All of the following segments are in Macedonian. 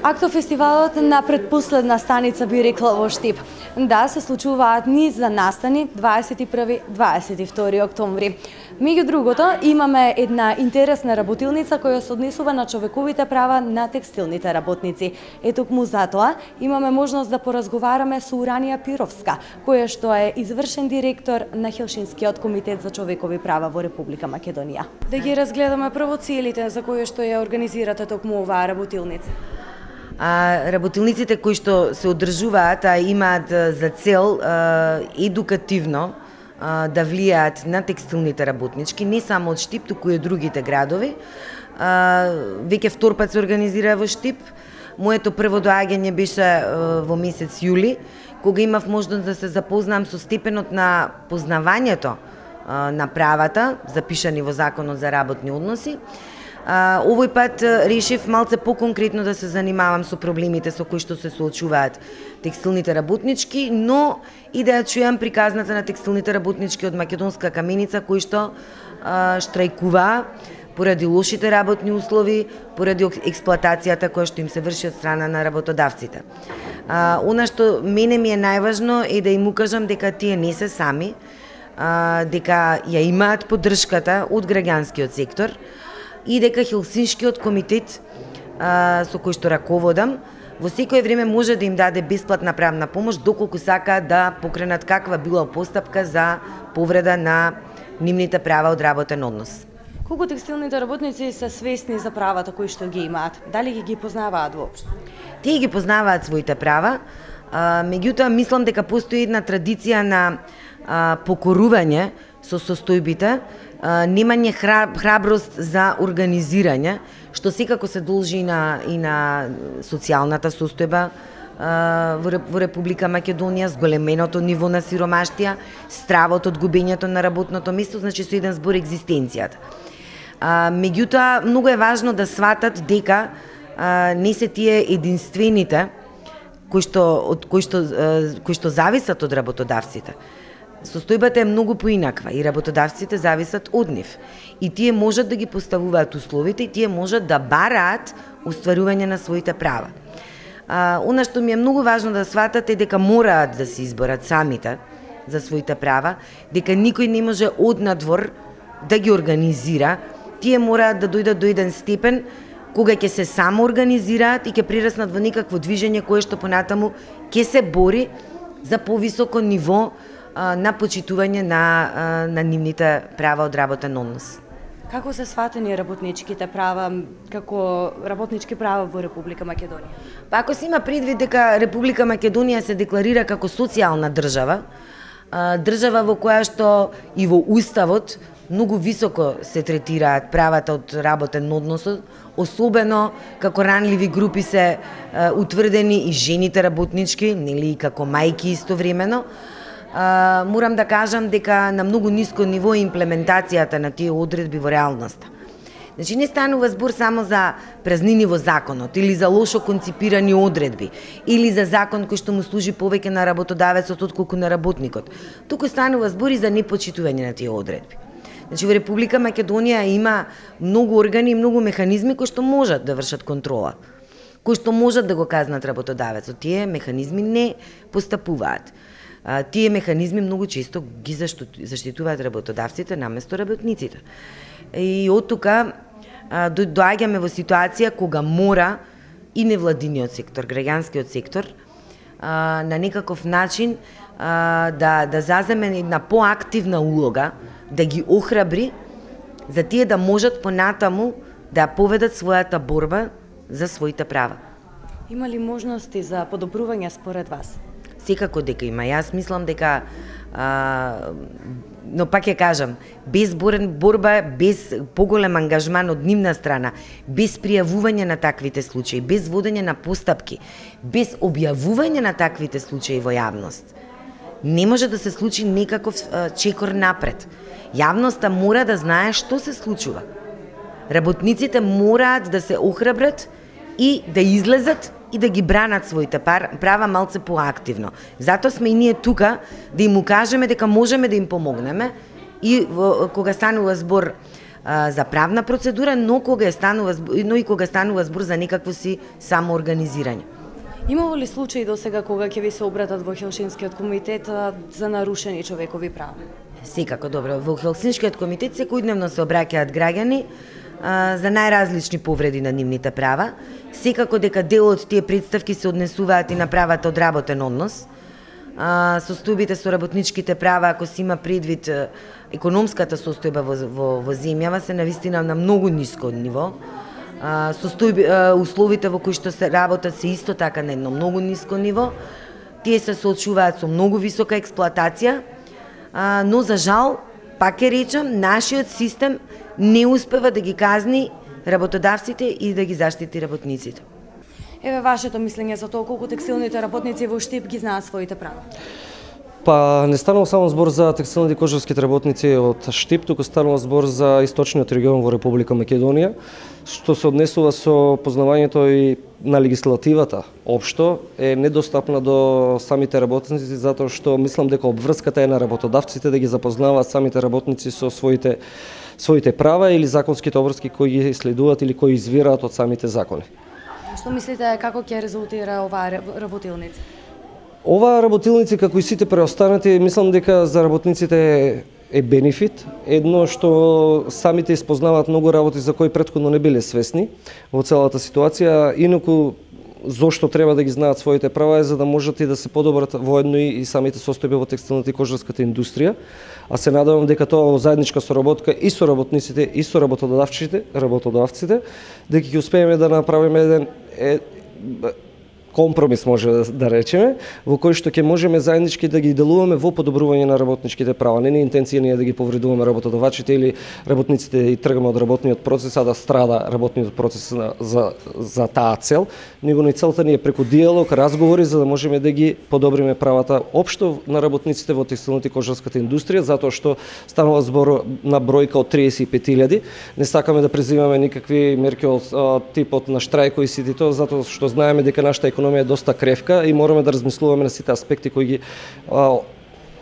Актофестивалот на предпоследна станица би рекла во Штип. Да, се случуваат низ за настани 21-22 октомври. Меѓу другото, имаме една интересна работилница која се однесува на човековите права на текстилните работници. Токму затоа имаме можност да поразговараме со Уранија Пировска, која што е извршен директор на Хелшинскиот комитет за човекови права во Република Македонија. Да ги разгледаме прво целите за кои што ја организирате токму оваа работилница. Работилниците кои што се одржуваат имаат за цел едукативно да влијаат на текстилните работнички, не само од Штип, туку и од другите градови. Веќе втор пат се организира во Штип. Моето прво доаѓање беше во месец јули, кога имав можност да се запознам со степенот на познавањето на правата, запишани во Законот за работни односи. Овој пат решив малце поконкретно да се занимавам со проблемите со кои што се соочуваат текстилните работнички, но и да ја чујам приказната на текстилните работнички од Македонска каменица кои што штрајкуваа поради лошите работни услови, поради експлоатацијата која што им се врши од страна на работодавците. Она што мене ми е најважно е да им укажам дека тие не се сами, дека ја имаат поддршката од граѓанскиот сектор, и дека Хелсиншкиот комитет со кој што раководам во секое време може да им даде бесплатна правна помош доколку сакаат да покренат каква била постапка за повреда на нивните права од работен однос. Колку текстилните работници се свесни за правата кои што ги имаат? Дали ги познаваат воопшто? Тие ги познаваат своите права, меѓутоа мислам дека постои една традиција на покорување со состојбите, немање храброст за организирање, што секако се должи и на социјалната состојба во Република Македонија, зголеменото ниво на сиромаштија, стравот од губењето на работното место, значи со еден збор екзистенцијата. Меѓутоа, многу е важно да сватат дека не се тие единствените кои што зависат од работодавците. Состојбата е многу поинаква и работодавците зависат од нив. И тие можат да ги поставуваат условите и тие можат да бараат остварување на своите права. Она што ми е многу важно да сватат е дека мораат да се изборат самите за своите права, дека никој не може однадвор да ги организира. Тие мораат да дојдат до еден степен кога ќе се само организираат и ќе прераснат во некакво движење кое што понатаму ќе се бори за повисоко ниво на почитување на нивните права од работен однос. Како се сватени работничките права како работнички права во Република Македонија? Па ако се има предвид дека Република Македонија се декларира како социјална држава, држава во која што и во уставот многу високо се третираат правата од работен однос, особено како ранливи групи се утврдени и жените работнички, нели како мајки истовремено. Морам да кажам дека на многу ниско ниво е имплементацијата на тие одредби во реалноста. Значи не станува збор само за празнини во законот или за лошо конципирани одредби или за закон кој што му служи повеќе на работодавецот отколку на работникот. Туку станува збор и за непочитување на тие одредби. Значи во Република Македонија има многу органи и многу механизми кои што можат да вршат контрола, кои што можат да го казнат работодавецот. Тие механизми не постапуваат. Тие механизми многу често ги заштитуваат работодавците наместо работниците. И од тука доаѓаме во ситуација кога мора и невладиниот сектор, граѓанскиот сектор, на некаков начин да заземе една поактивна улога, да ги охрабри за тие да можат понатаму да поведат својата борба за своите права. Има ли можности за подобрување според вас? Секако дека има. Јас мислам дека, но пак ја кажам, без борба, без поголем ангажман од нивна страна, без пријавување на таквите случаи, без водење на постапки, без објавување на таквите случаи во јавност, не може да се случи некаков чекор напред. Јавноста мора да знае што се случува. Работниците мораат да се охрабрат и да излезат и да ги бранат своите права малце поактивно. Затоа сме и ние тука да им укажеме дека можеме да им помогнеме и кога станува збор за правна процедура, но и кога станува збор за некакво си самоорганизирање. Имало ли случаи до сега кога ќе ви се обратат во Хелсинскиот комитет за нарушени човекови права? Секако, добро. Во Хелсинскиот комитет секојдневно се обраќаат граѓани за најразлични повреди на нивните права. Секако дека дел од тие представки се однесуваат и на правата од работен однос. Состојбите со работничките права, ако се има предвид економската состојба во земјава, се навистина на многу ниско ниво. Условите во кои што се работат се исто така на едно многу ниско ниво. Тие се соочуваат со многу висока експлоатација, но за жал, пак ќе речам, нашиот систем не успева да ги казни работодавците и да ги заштити работниците. Еве вашето мислење за тоа колку текстилните работници во Штип ги знаат своите права? Па не станува само збор за текстилните и кожарските работници од Штип, туку станува збор за источниот регион во Република Македонија, што се однесува со познавањето и на легислативата општо е недостапна до самите работници, затоа што мислам дека обврската е на работодавците да ги запознаваат самите работници со своите права или законските обврски кои ги следуваат или кои извираат од самите закони. Што мислите како ќе резултира оваа работилница? Оваа работилници, како и сите преостанати, мислам дека за работниците е бенефит. Едно што самите испознаваат многу работи за кои претходно не биле свесни во целата ситуација, инаку зошто треба да ги знаат своите права е за да можат и да се подобрат воедно и самите состојби во текстилната и кожарската индустрија. А се надевам дека тоа во заедничка соработка и со работниците и со работодавците, дека ќе успееме да направиме еден компромис, може да речеме, во кој што ќе можеме заеднички да ги делуваме во подобрување на работничките права. Не е интенција ние да ги повредуваме работодавачите или работниците и тргаме од работниот процес, а да страда работниот процес за таа цел, него и целта ни е преку диалог, разговори за да можеме да ги подобриме правата општо на работниците во текстилната и кожарската индустрија, затоа што станува збор на бројка од 35.000. Не сакаме да презимаме никакви мерки од типот на штрајкови и сите тоа, затоа што знаеме дека нашата економија е доста кревка и мораме да размислуваме на сите аспекти кои ги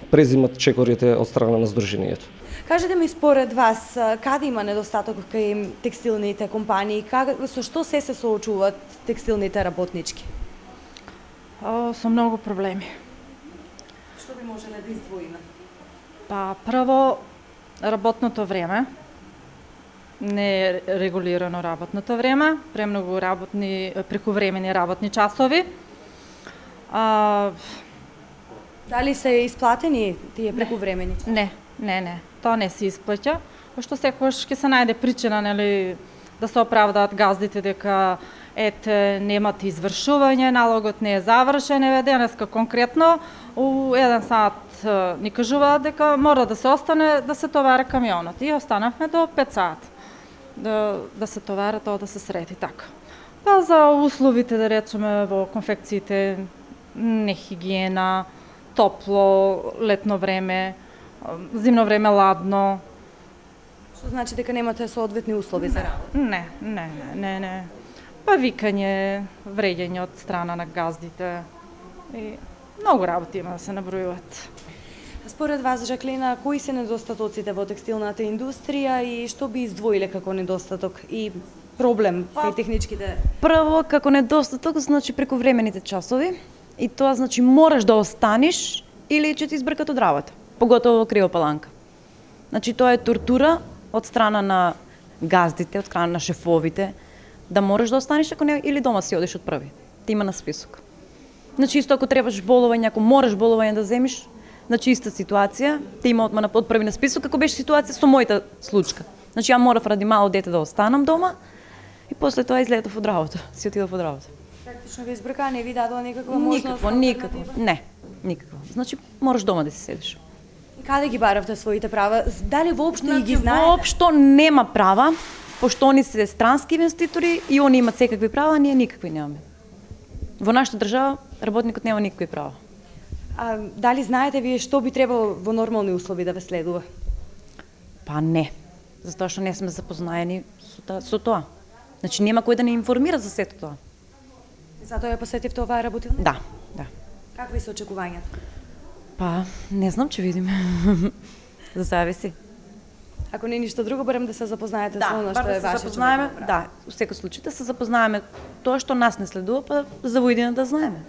презимат чекорите од страна на Сдруженијето. Кажете ми според вас, каде има недостаток кај текстилните компании, со што се соочуваат текстилните работнички? Со многу проблеми. Што би можеле да издвоиме? Па прво работното време. Не е регулирано работното време, премногу прекувремени работни часови. Дали се isплатени тие прекувремени? Не. Тоа не се исплаќа, пошто секогаш ќе се најде причина, нели, да се оправдаат газдите дека немат извршување, налогот не е завршен, денеска конкретно у 1 сат ни кажуваат дека мора да се остане да се товара камионот и останавме до 5 сат. Да се товара тоа да се среди така. Па за условите, да речеме, во конфекциите, нехигиена, топло, летно време, зимно време ладно. Што значи дека немате соодветни услови за работа? Не. Па викање, вреѓање од страна на газдите и многу работи има да се набројуваат. Според вас, Жаклина, кои се недостатоците во текстилната индустрија и што би издвоиле како недостаток и проблем кај техничките? Прво, како недостаток, значи прекувремените часови и тоа значи мораш да останеш или ќе ти избркат од работа, поготово во Кривопаланка. Значи тоа е тортура од страна на газдите, од страна на шефовите, да мораш да останеш ако не или дома си одиш од први. Ти има на список. Значи исто ако требаш болување, ако мораш болување да земиш, значи иста ситуација, те има одма од први на список, како беше ситуација со мојата случка. Значи ја морав ради мало дете да останам дома и после тоа излетов од работа, си отидов од работа. Практично ви избрка, не ви дадоа никаква можност? Никакво. Не, никакво. Значи мораш дома да си седиш. И каде ги баравте своите права? Дали воопшто и ги знаете? Воопшто нема права, пошто они се странски инвеститори и они имат секакви права, а ние никакви немаме. Во нашата држава работникот нема никакви права. А дали знаете вие што би требало во нормални услови да ве следува? Па не, затоа што не сме запознаени со тоа. Значи нема кој да не информира за сето тоа. Затоа ја посетивте оваа работилница? Да. Какви се очекувањата? Па, не знам, ќе видиме. За зависи. Ако не ништо друго, барем да се запознаете со она што да е се вашиот запознаеме, човек. да, во секој случај да се запознаеме тоа што нас не следува, па за во идеја да знаеме.